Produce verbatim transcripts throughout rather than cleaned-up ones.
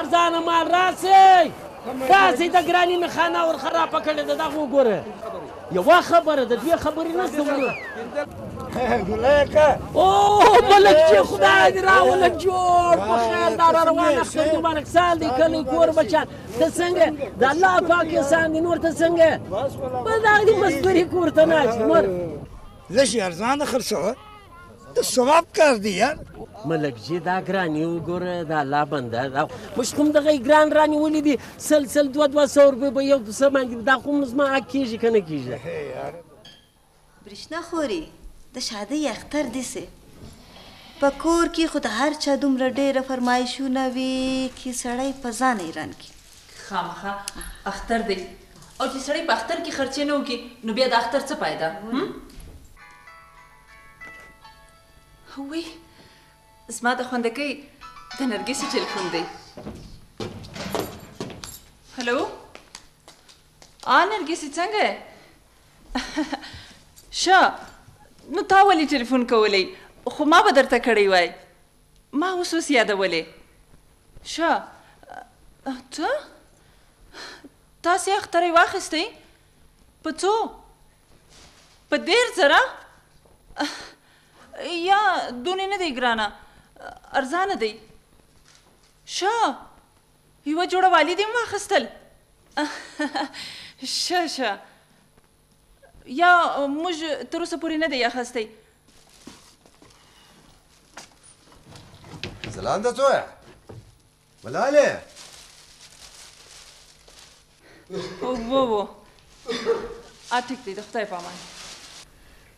ارزان مال راسے، راسے دا گرانی میں خانہ اور خراب پکڑے دا، دا وگورہ۔ یوا خبر دا، دوی خبری نہ سنو۔ او ملک جی، خدا دے راولک جوڑ، بخیر دار روان اختر مبارک سال دی کلی کور بچان۔ تسنگے، دا اللہ پاکستان دی نور تسنگے۔ بس دا دی مزدوری کور تناج نور۔ لشی ارزان خرچہ۔ تو ثواب کار دی یار۔ ملک جی، دا گرانی وگورہ، دا اللہ بندہ، دا مشکم دغه گران رانی ولی دی، سل سل دو دو سو روپے به یو سامان دی، دا خو زما حق کیژی کنه کیژی؟ برشنا خوری، د شادۍ اختر دسه. په کور کی خو د هر چا دومره ډېره فرمایشونه وي کی سړی په ځان حیران کی. خامخا اختر دی. او چې سړی په اختر کی خرچې نه وکي، نو بیا د اختر څه فایده؟ هم؟ هوی، زما د خوندکۍ د نرګسې ټلیفون دی. هلو؟ آ نرګسې، څنګه یې؟ شه، نو تا ولې ټلیفون کولی؟ خو ما به درته کړی وای. ما اوس اوس یادولې. شه، ته؟ تاسې اخترۍ واخیستئ؟ په څو؟ په دېرش زره؟ یا دونې نه دی ګرانه، ارزانه دی. شه، یوه جوړه والي دې هم واخیستل؟ شه، شه. یا موږ تر اوسه پورې نه دی اخیستی. ځلانده زویه! ملالې! وو، وو. آ، ټیک دی، د خدای په امان.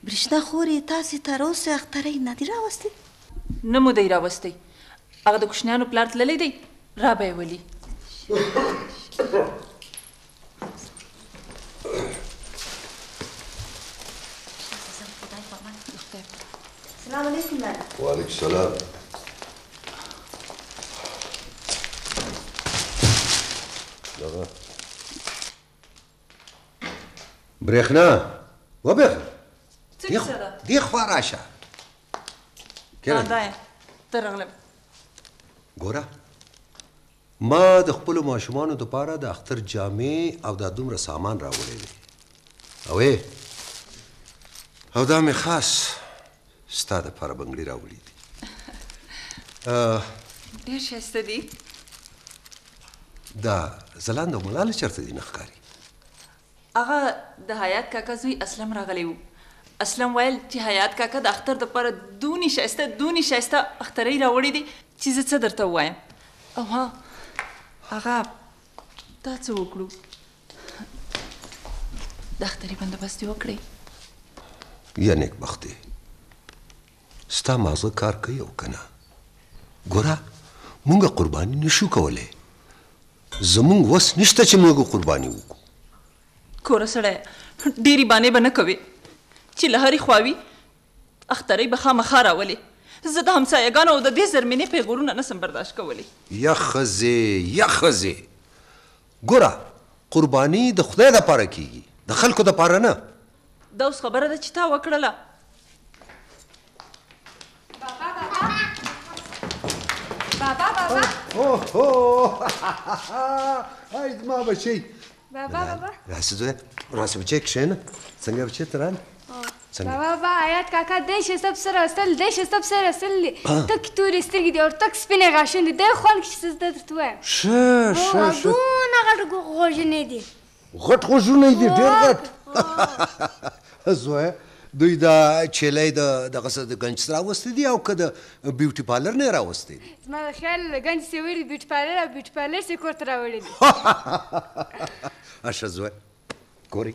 برشنا خورې، تاسې تر اوسه اخترۍ نه دی راوستې؟ نه مو دی راوستی. هغه د کوشنیانو پلار تللی دی، را به یې ولي. السلام علیکم لالا. وعلیکم السلام. دغه برېښنا، و برېښنا. څه دې کیسه ده؟ دې خوا راشه. کېنه. همدا یم، درغلم. ګوره، ما د خپلو ماشومانو دپاره د اختر جامې او دا دومره سامان راوړی دی. او ای، او دا مې خاص ستا دپاره بنګړي راوړي دي. آه. ډېر ښایسته دي. دا ځلانده او ملاله چرته دي؟ نه ښکاري. هغه د حیات کاکا زوی اسلم راغلی و. اسلم ویل چې حیات کاکا د اختر دپاره دونی ښایسته، دونی ښایسته اخترۍ راوړې دي چې زه څه درته ووایم. او ها، هغه، دا څه وکړو؟ د اختري بندوبست یې وکړئ. یا نیکبختې، ستا مازغه کار کوي او که نه؟ ګوره، مونږ قرباني نشو کولی. زمونږ وس نشته چې موږ قرباني وکړو. کوره سړیه، ډېرې بانې به نه کوې چې له هرې خوا وي، اخترۍ به خامخا راولې. زه د همسایه‌ګانو او د دې زرمینې پېغورونه نه سم برداشت کولی. یخ ځې، یخ ځې. ګوره، قرباني د خدای دپاره کیږي، د خلکو دپاره نه. دا اوس خبره ده چې تا وکړله. بابا، بابا. بابا، بابا. اوهو. آی زما بچی. بابا، بابا. راسه زویه، راسه بچی، کښېنه. څنګه بچی تران؟ اه. څنګه؟ بابا، بابا، حیات کاکا دې شه سب سره اصل، دې شه سب سره اصل دي. اه. تک تورې سترګې دي او تک سپینې غاښونه دي. دې خوند کې څه زده درته وایم. شه، اه، شه، شه. دونه غټ غو-، غوژنې دي. غټ غوژونه یې دي، ډېر غټ. اه. زویه، دوی دا چیلۍ د دغه څه د ګنج څخه راوستي دي او که د بیوټي پارلر نه یې راوستي دي؟ زما د خیال له ګنج څخه وړي بیوټي پارلر او بیوټي پارلر څخه کور ته راوړي دي. اشه زویه، ګورئ،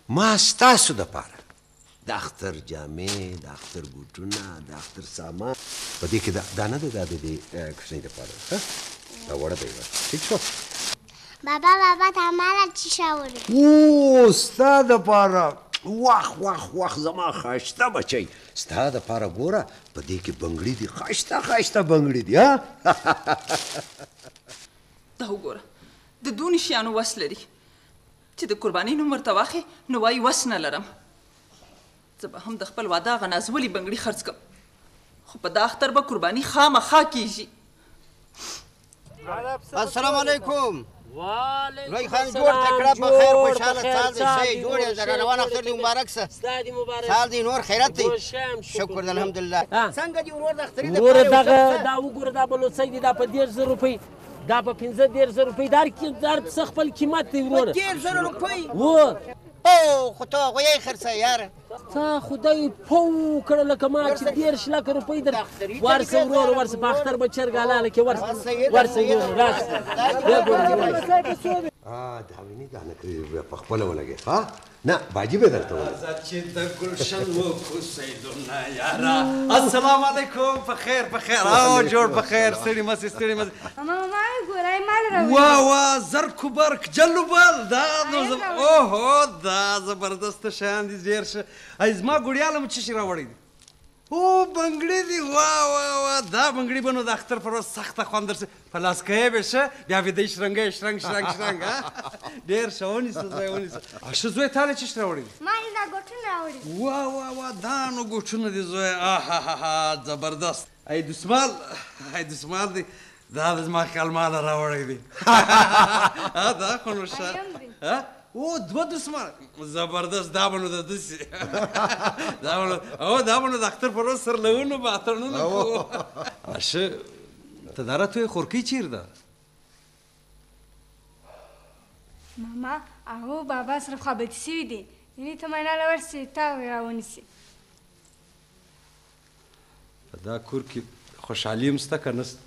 ما ستاسو دپاره د اختر جامې، د اختر بوټونه، د اختر سامان. په دې کې دا، دا نه دی، دا د دې، اه، کوچنۍ دپاره ده، ها؟ دا وړه دی، وا. ٹھیک شو؟ بابا، بابا، تا مالا چی شاوره؟ او، ستا دپاره. واخ، واخ، واخ، زما ښایسته بچی. ستا دپاره ګوره، په دې کې بنګړي دي، ښایسته، ښایسته بنګړي دي، ها؟ دا وګوره، د دوني شیانو وس لري. چې د قربانۍ نوم ورته واخلي، نو وایي، وس نه لرم. زه به هم د خپل واده هغه نازولي بنګړي خرڅ کړم، خو په دا اختر به قرباني خامخا کېږي. السلام علیکم۔ وعلیکم لوئی خان، جوڑ السلام، تکڑه، په خیر، جوڑ خوشحاله، په خیر، سال دې صحیح، صحیح، جوړ یې، جوړ، جوار، جوار، جوار، اختر دې مبارک سه. ستا دې مبارک. سال دې نور خیرت دې. خوش آم، شکر. شکر دې، الحمدلله. ها. څنګه دې ورور د اختري د ورور پاره دغه، وسه؟ دا وګوره، دا بلوڅی دې، دا په دېرش زره روپۍ، دا په پنځه دېرش زره روپۍ، دا هر کی-، دا هر څه خپل قیمت دی ورور. په دېرش زره روپۍ؟ و. او، خو ته هغوی یې خرڅه، یاره. تا خدای پو کړه لکه ما چې دېرش لکه روپۍ در ورسه ورور، ورسه په اختر به چرګ حلاله کړې، ورسه، ورسه ورور، راسه. بیا ګورم. آه، دا ویني، دا نه کوي، بیا په خپله ولګي، ها؟ نه، باجي به درته ولګي. راځه چې د ګلشن وکړو سیلونه یاره. السلام علیکم، په خیر، په خیر. او، جوړ په خیر، ستړي مه سې، ستړي مه سې. ماما، ماما، ګورای مال راوړي. واه، واه، زرک و برک، جل و بل، دا نو زم-، اوهو، دا زبردست شیان دي، ډېر ښه. ای، زما ګوړیاله مو څه شي راوړی دي؟ او، بنګړي دي، واه، واه، واه، دا بنګړي به نو د اختر پر ورځ سخته خوند درسي. په لاس کوي به شه، بیا به دی شرنګ، شرنګ، شرنګ، شرنګ، ها؟ ډېر ښه، ونیسه زوی، ونیسه. ا، شه زوی، تا له څه شي راوړی دي؟ ما یې دا ګوټونه راوړي. واه، واه، واه، دا نو ګوټونه دي زوی، آهاهاها، زبردست. ای دسمال، ای دسمال دی، دا د زما خیال ما له راوړی دی. ها، دا خو نو شه. ایم دی. ها؟ او، دوه دسمال. زبردست، دا به نو د دسی. دا به نو، او، دا به نو د اختر پر ورځ سرلوونو به اتنونه او. کوو. شه، ته دا راته وایه خورکۍ چیر ده؟ ماما، هغه بابا سره خبرې شوي دي. یعنی ته مناله ورسې، تا راونیسي. په دا کور کې خوشحالي هم شته که نه شته؟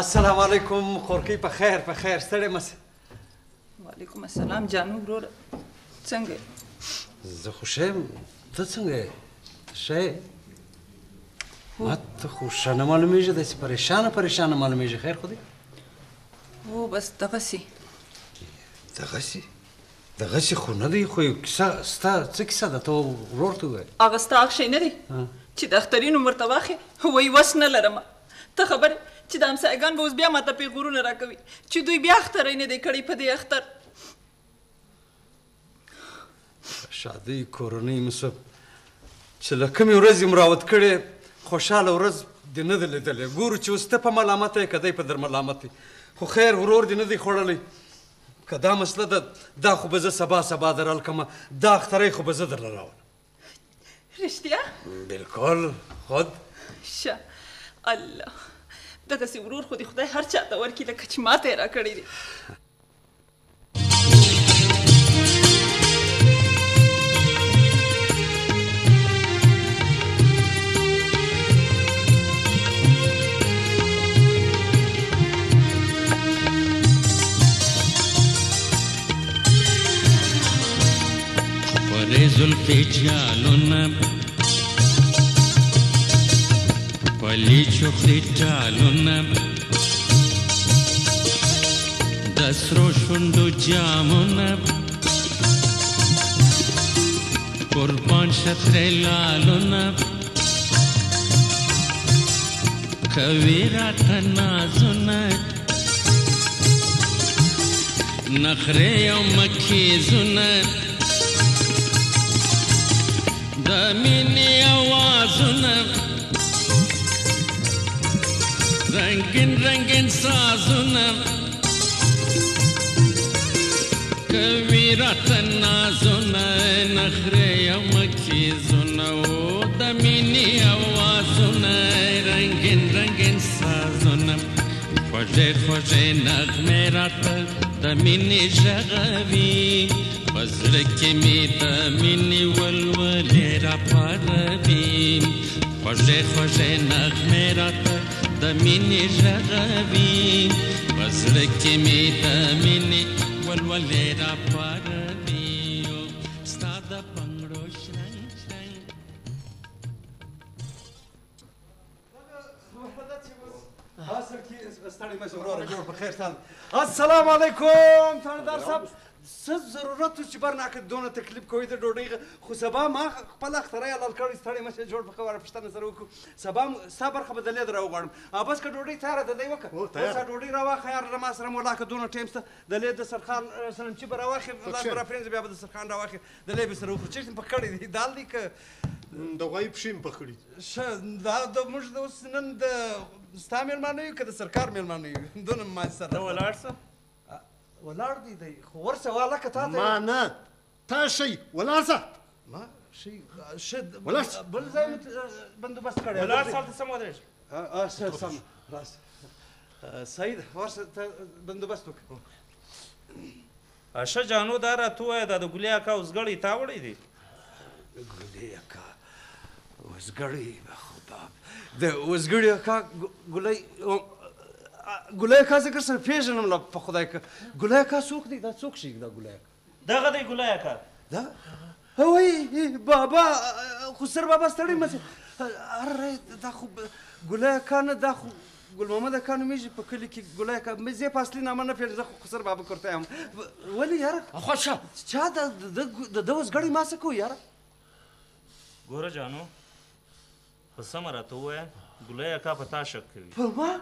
السلام علیکم، خورکۍ، په خیر، په خیر، ستړې مه شې. وعلیکم السلام جانو وروره، څنګه یې؟ زه خو ښه یم، ته څنګه یې؟ ته ښه یې؟ هو. ما ته خو ښه نه معلومېږي، داسې پریشانه پریشانه معلومېږي، خیر خو دی؟ هو، بس دغسې. دغسې؟ دغسې خو نه دی، خو یو کیسه سته. څه کیسه ده؟ ته ورور ته ووایه. هغه ستا هغه شی نه دی ها. چې د اختري نوم ورته واخې، وایي وس نه لرم. ته خبر یې چې د همسایه‌ګان به اوس بیا ماته پېغورونه راکوي چې دوی بیا اختری نه دی کړی په دې اختر. شادۍ کورنۍ مو شه، چې له کومې ورځې مو راوت کړې، خوشحاله ورځ دې نه ده لیدلې. ګورو چې اوس ته په ملامته یې، که دی په در ملامت دی. خو خیر، ورور دې نه دی خوړلی. که دا مسله ده، دا خو به زه سبا، سبا در حل کړم. دا اختری خو به زه درله راولم. رشتیا؟ بالکل، خود. شه، الله. دغسې ورور خو دې خدای هر چا ته ورکړي، لکه چې ما ته یې راکړی دی. خورې زلفې جالونه، پلي چوخري ټالونه، د سرو شونډو جامونه، قربان شه ترې لالونه، کوي راته نازونه، نخرې او مکیزونه، د مینې اوازونه، رنگین رنگین سازونه، کوي راته نازونه، نخرې او مکیزونه، او د مینې اوازونه، رنگین رنگین سازونه. خوږې خوږې نغمې راته د مینې ږغوي، په زړه کې مې د مینې ولولې راپاروي. خوږې خوږې نغمې راته د مینې ږغوي، په زړه کې مې د مینې ولولې راپاروي. او ستا د پنګړو شرنګ شرنګ. ها، سر کی ستړی مه شې وروره، جوړ په خیر سال. السلام علیکم تاندار صاحب. څه ضرورت و چې برناکه دونه تکلیف کوئ د ډوډۍ غ-، خو سبا ما خ-، خپل اختراع حلال کړی، ستړی مه شې، جوړ په خبره پوښتنه سره وکړو. سبا م-، ستا برخه به د لید راوغواړم. ها، بس که ډوډۍ تیاره ده، دی وکه. هو، تیاره. اوس ها ډوډۍ راواخه، یار، له ما سره مو لاکه دونه ټایم شته. د لید دسترخوان، اه، سلنچي به راواخې، لاس به راپرېنځه، بیا به دسترخوان راواخې. د لید به سره وخورو. چیرته په کړی دی؟ دال دی که د غوايي پښې مې پخ کړي. شه، دا د موږ د اوس نن د ستا مېلمانه یو که د سرکار مېلمانه یو؟ دونه ما سره ته ولاړ سه. آ، ولاړ دی دی، خو ورسه واله که تا ته ما نه، تا شي، ولاړ سه. ما شي، آ، شه، د-، ولاړ سه. بل ځای مې ت-، بندوبست کړی. ولاړ سه، هلته سم ودرېږه. آ، آ، شه، سم، راس. آ، سعید، ورسه ته بندوبست وکړه. اشه جانو، دا راته ووایه، دا د ګلې اکا اوزګړی تا وړی دی؟ ګلې اکا اوزګړی، خدا، د اوزګړي اکا ګ-، ګلۍ، ا، ا، ګلۍ اکا زه که سره پېژنم لا، په خدای که ګلۍ اکا څوک دی؟ دا څوک شي دا ګلۍ اکا؟ دغه دی ګلۍ اکا. دا؟ وای بابا، خسر بابا ستړی مه شې. اره، دا خو ب-، ګلۍ اکا نه، دا خو ګل محمد اکا نومېږي په کلي کې. ګلۍ اکا، مې زه په اصلي نامه نه پېژنم، زه خو خسر بابا کرته یم. و-، ولې یاره؟ خوشه. چا د-، د-، د-، د-، د اوزګړی ما څه کوو یاره؟ ګوره جانو، په سمه راته ووایه، ګلۍ اکا په تا شک کوي. په ما؟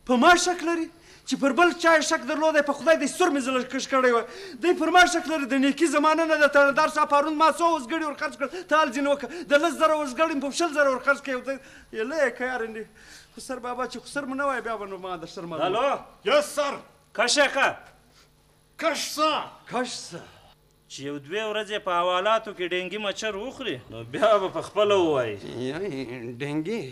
په ما شک لري؟ چې پر بل چا یې شک درلودی، په خدای دی سور مې زړه کش کړی وای. دی پر ما شک لري، د نیکي زمانه نه ده. تاندار صاحب پرون ما څو اوزګړي ورخرڅ کړل، ته حال ځینې وکړه. د لس زره اوزګړي مې په شل زره ورخرڅ کړي. ته یې لایه که یاره نه. خسر بابا چې خسر مو نه وای، بیا به نو ما در سر معلوم. الو. یس سر. کش اکا. کش سه. کش سه. چې یو دوې ورځې په حوالاتو کې ډینګي مچر وخوري، نو بیا به په خپله ووایي. یعنې ډینګي،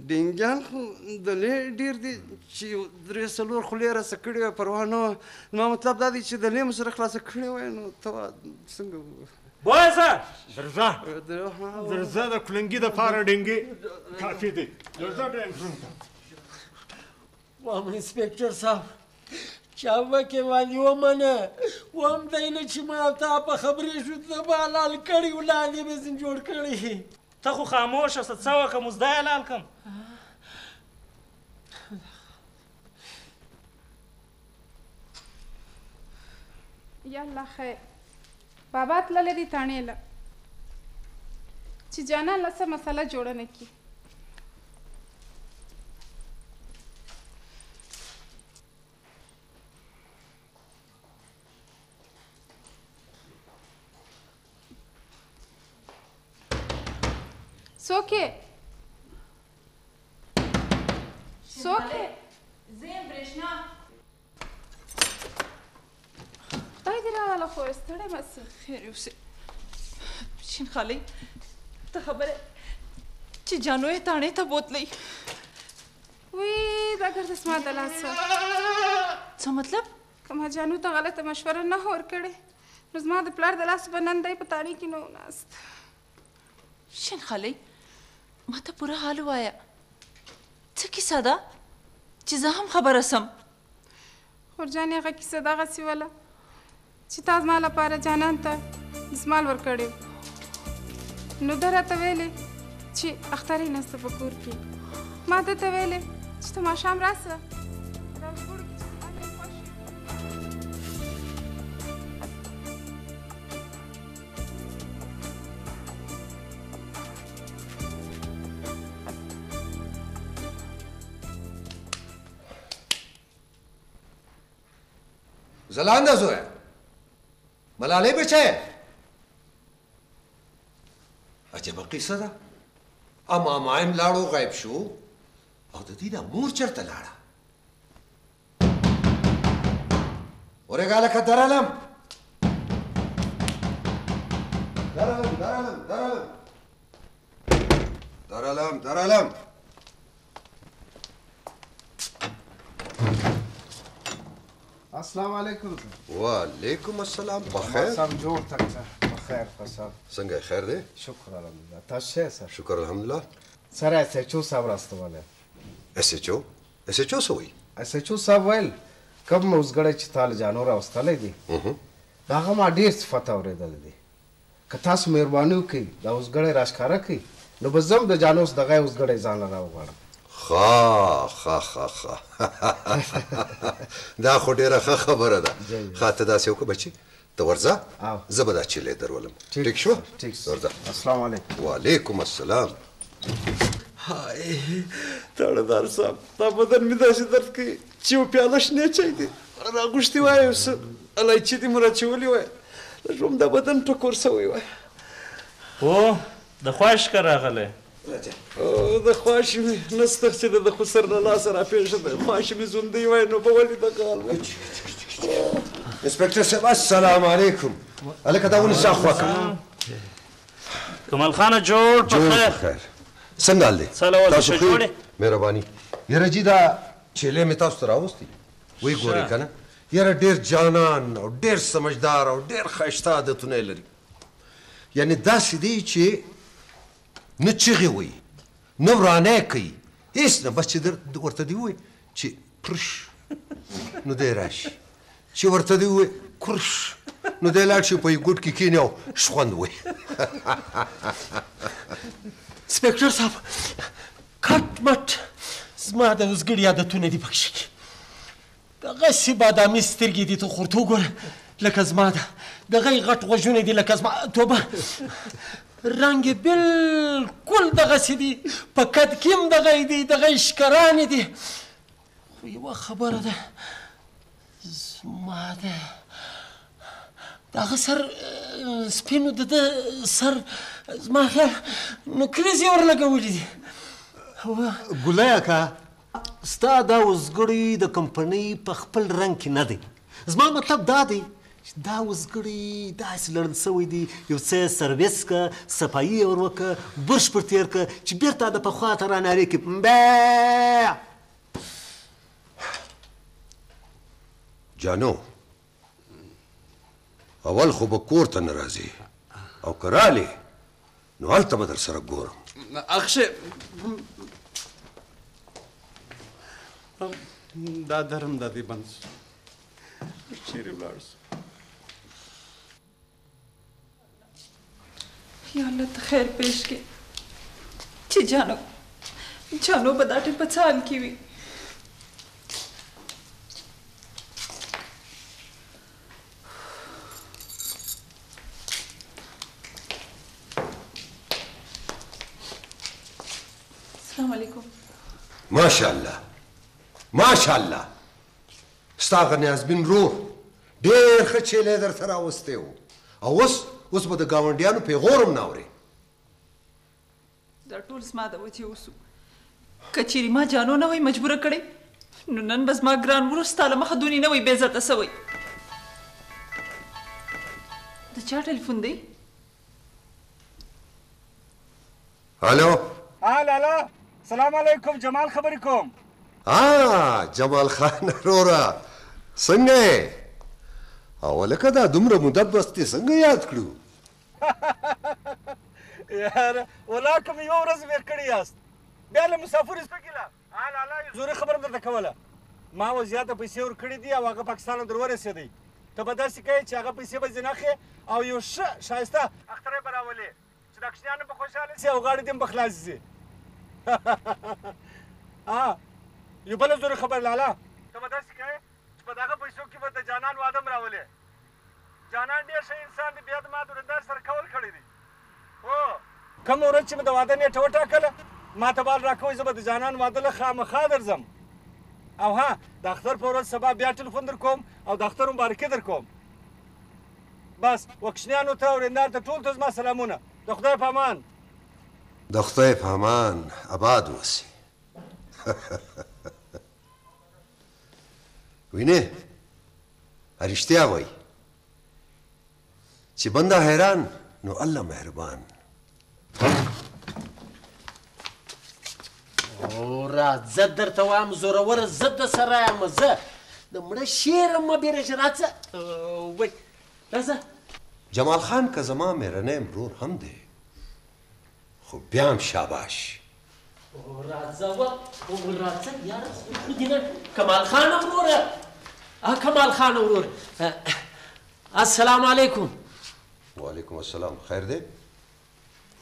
ډینګیان خو د لې ډېر دي، چې یو درې څلور خولې راسه کړې وای، پروا نه وه. زما مطلب دا دی چې د لې مو سره خلاصه کړې وای، نو ته وا څنګه و-، بوزه! درځه. درځه، د کلنګي دپاره ډینګي کافي دی. درځه ډینګي. وام انسپکتر صاحب، چاوه که والی ومنه، وام دینه چې ما تا په خبرې شو، ته به حلال کړی، ولادې به زین جوړ کړی. ته خو خاموشه سه، څه وکه مزدا حلال کم. یا الله خیر. بابا تللی دی تانے له، چې جانان له څه مسئله جوړه نه کی. څوک یې؟ څوک یې؟ زه یم، برېښنا. خدای دې راواله خو ستړی مه سې. خیر اوسې. شین خالۍ، ته خبره چې جانو یې تانے ته بوتلې. وی، دا ګرد زما د لاسه. څه مطلب؟ که ما جانو ته غلطه مشوره نه ورکړې، نو زما د پلار د لاس به نن دی په تانے کې نه و ناست. شین خالۍ، ما ته پوره حال ووایه. څه کیسه ده چې زه هم خبره سم؟ خور جانې، هغه کیسه دغسې وله چې تا زما لپاره جانان ته دسمال ورکړی و. نو ده راته ویلې چې اختر یې نسته په کور کې. ما ده ته ویلې چې ته ماښام راسه. دا وروکي چې زما ته خوښ وي. ځلانده زویه، ملالۍ بچیه. عجبه قصه ده. اما مایم لاړو، غیب شو، او د دې دا مور چرته لاړه؟ ورېګاله که درالم. درالم، درالم، درالم. درالم، درالم. السلام علیکم سر. وعلیکم السلام، بخیر. سم جوڑ تک سر، بخیر سر. څنګه، خیر دی؟ شکر الحمدلله. تاسو شه سر؟ شکر الحمدلله. سر، ایس ایچ او صاحب راستواله. S H O? S H O څه وایي؟ ایس ایچ او صاحب ویل، کوم اوزګړی چې تا له جانو راوستلی دی، مهم. د هغه ما ډېر صفت اورېدلی دی. که تاسو مهرباني وکړئ، دا اوزګړی راښکاره کړئ، نو به زه هم د جانو څخه دغه اوزګړی ځان له راوغواړم. ښه، ښه، ښه، ښه. دا خو ډېره ښه خبره ده. جی، جی. ښه، ته داسې وکړه بچي، ته ورځه، او. زه به دا چیلې درولم. ٹھیک ٹھیک شو؟ سر، ٹھیک سر. ورځه. السلام علیکم. وعلیکم السلام. هاي، تاړهدار صاحب، دا بدن مې داسې درد کوي چې یو پیاله شنې چای دې راغوښتي وای، یو څه الایچي دې مو راچولي وای، د ژوند دا بدن ټکور شوی وای. هو، د خواشک راغلے۔ او، د خواشمی نستغ چی د خو سر نا لاس را پیش د خواشمی زندی وای نو بولی د کال وای۔ انسپکٹر صاحب، السلام علیکم۔ الکه دا ونسا خوکه۔ کمال خان جوڑ جوڑ پخیر۔ پخیر۔ سنگال دے؟ سلام علیکم، تاسو خیر؟ جوڑے؟ مہربانی۔ یرا جی دا چیلے می تاسو تر راوستی۔ وی گورے کنه۔ یرا ڈیر جانان او ڈیر سمجھدار او ڈیر خیشته عادتونه لري۔ یعنی داسې دی چې نه چیغې وهي، نه ورانه کوي، هیڅ نه. بس چې در-، ورته دې ووایي چې پرش، نو دی راشي. چې ورته دې ووایي کرش، نو دی لاړ شي، په یو ګوټ کې کیني او شخوند وهي. انسپکتر صاحب، کټ مټ زما د وزګړي عادتونه دي پکې شي. دغسې بادامي سترګې دي، ته خو ورته وګوره، لکه زما ده. دغه غټ غوږونه دي، لکه زما. توبه. رنګ یې بلکل دغسې دي، په قد کې هم دغه دي، دغه اشکرانې دي. خو یوه خبره ده، زما ده. د هغه سر، اه، سپین و، د ده سر، زما خیال، نوکریزې ورلګولې دي. هو. ګلای اکا، ستا دا وزګړی د کمپنۍ په خپل رنګ کې نه دی. زما مطلب دا دی چې دا وزګړی داسې لړل شوی دی، یو څه سرویس که، صفایي یې ور وکه، برش پر تېر که، چې بېرته د پخوا ته رانارې کړي. مبه! جانو، اول خو به کور ته نه راځې، او که رالې، نو هلته به در سره ګورم. اخشه، دا درم دا دې بند شو. چیرې ولاړ شو؟ یا الله، ته خیر پېش کړې چې جانو، جانو به دا ټیم په څه حال کې وي. السلام علیکم۔ ماشاءالله، ماشاءالله۔ ستا غ نیازبین رور ډېر ښه چیلی درته راوستی و. او اوس، اوس به د ګاونډیانو پېغور هم نه اورې. دا ټول زما د وجې وسو. که چیرې ما جانو نه وای مجبوره کړې، نو نن به زما ګران ورور ستا له مخه دونې نه وای بې عزته سوی. د چا ټلیفون دی؟ الو. ها لالا، سلام علیکم، جمال خبرې کوم. ها، جمال خان وروره، څنګه یې؟ او لکه دا دومره موده پس دې څنګه یاد کړو؟ یاره، ولاکه مې یوه ورځ ویښ کړي یاست. بیا له مسافرو سپکې له. ها لالا، یو ضروري خبره درته کوله. ما وضعیت ته پیسې ورکړې دي او هغه پاکستان ته در ورسېدی. ته به داسې کوې چې هغه پیسې به ځینې اخلې او یو ښه ښایسته اختر به راولې. چې دا کوچنیان هم په خوشحاله شي او غاړې دې هم په خلاصې شي. آه، یو بله ضروري خبره لالا. ته به داسې کوې چې په دغه پیسو کې به د جانان واده هم راولې. جانان ډېر ښه انسان دی، بیا د ما د ورندار سره قول کړی دی. هو. کومه ورځ چې مې د واده نیټه وټاکله، ما ته بال راکوئ، زه به د جانان واده له خامخا درځم. او ها، د اختر په ورځ سبا بیا ټلیفون در کوم او د اختر مبارکي در کوم. بس، وکشنیانو ته او ورندار ته ټول ته زما سلامونه. د خدای په امان. د خدای په امان، آباد اوسې. وینې، رشتیا وایي چې بنده حیران، نو الله مهربان. او راځه درته وایم زوروره، زه د سره یم، زه د مړه شعر مه بیرېژه، راځه. وای، راځه. جمال خان که زما مېرنی ورور هم دی، خو بیا هم شاباش. او راځه و، او راځه یاره، خو، خو دې نه. کمال خان وروره. آ، کمال خان وروره. آ، السلام علیکم. وعلیکم السلام. خیر دی؟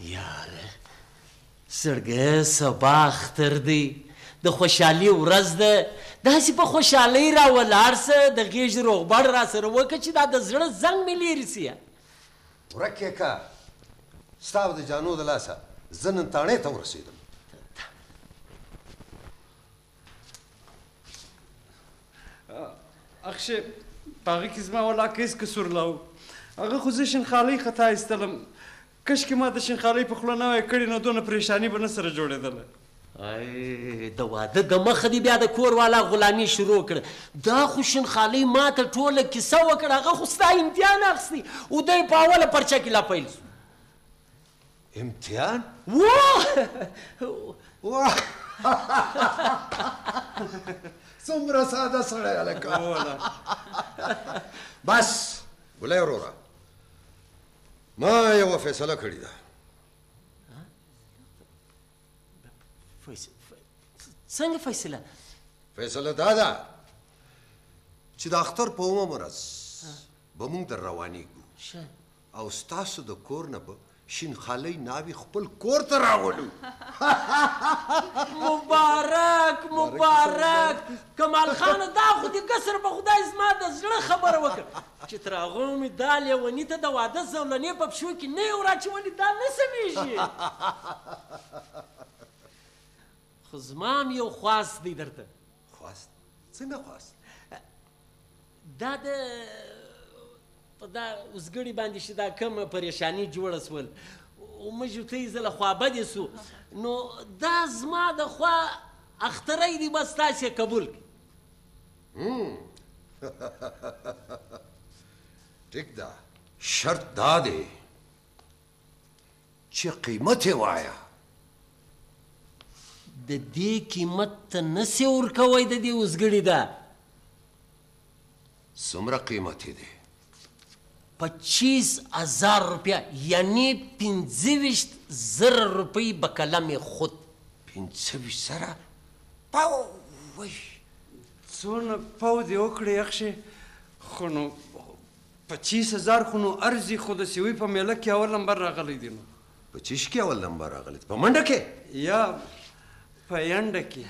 یاره، زړګیه، سبا اختر دی، د خوشحالي ورځ ده، داسې په خوشحالۍ را ولاړ سه، د غېږې روغبړ را سره وکړه چې دا د زړه زنګ مې لېرې سي. ورک یې که، ستا او د جانو د لاسه زه نن تاڻې ته ورسېدم. اخشه، په هغه کې زما ولاکه هېڅ قصور نه و. هغه خو زه شنخالۍ خطا ایستلم. کش کہ ما ته شین خالۍ په خوله نه وای کړې، نو دونه پریشاني به نه سره جوړېدله. اے، د واده د مخه دې بیا د کور والا غلامي شروع کړه. دا خو شین خالۍ ما ته ټوله کیسه وکړه، هغه خو ستا امتحان اخیستی او دی په اوله پرچه کې لا پیل سو. امتحان؟ واه! واه! څومره ساده سړی هلکه. بس، ګلۍ وروره، ما یوه فیصله کړې ده. فیص-، ف-، څنګه فیصله؟ فیصله دا ده چې د اختر په اوومه ورځ به موږ در روانېږو. شه. او ستاسو د کور نه به شین خالۍ ناوې خپل کور ته راولو. مبارک، مبارک. کمال خان، دا خو دې قصر په خدای زما د زړه خبره وکړه. چې تر هغو مې دا لیوني ته د واده زولنې په پښو کې نه یو را چې ولې دا نه سمېږي. خو زما هم یو خواست دی درته. خواست؟ څنګه خواست؟ دا د، په دا اوزګړي باندې چې دا کومه پریشاني جوړه سول، او موږ ته یې زله خوابدې سو، نو دا زما د خوا اخترۍ دی، بس تاسې قبول کړئ. هم. ٹھیک ده. شرط دا دی چې قیمت یې وایه. د دې قیمت ته نه سې ورکوی، د دې اوزګړي ده. څومره قیمت یې دی؟ پچیس هزار روپیه، یعنی پنځه ویشت زره روپۍ به قلم خود. پنځه ویشت زره؟ پاو وای. څونه پاو دې وکړې یخ شې، خو نو پچیس هزار خو نو ارزي، خو د سیوۍ په میله کې اول نمبر راغلی دی نو. په چیش کې اول نمبر راغلی دی؟ په منډه کې؟ یا په ینډه کې.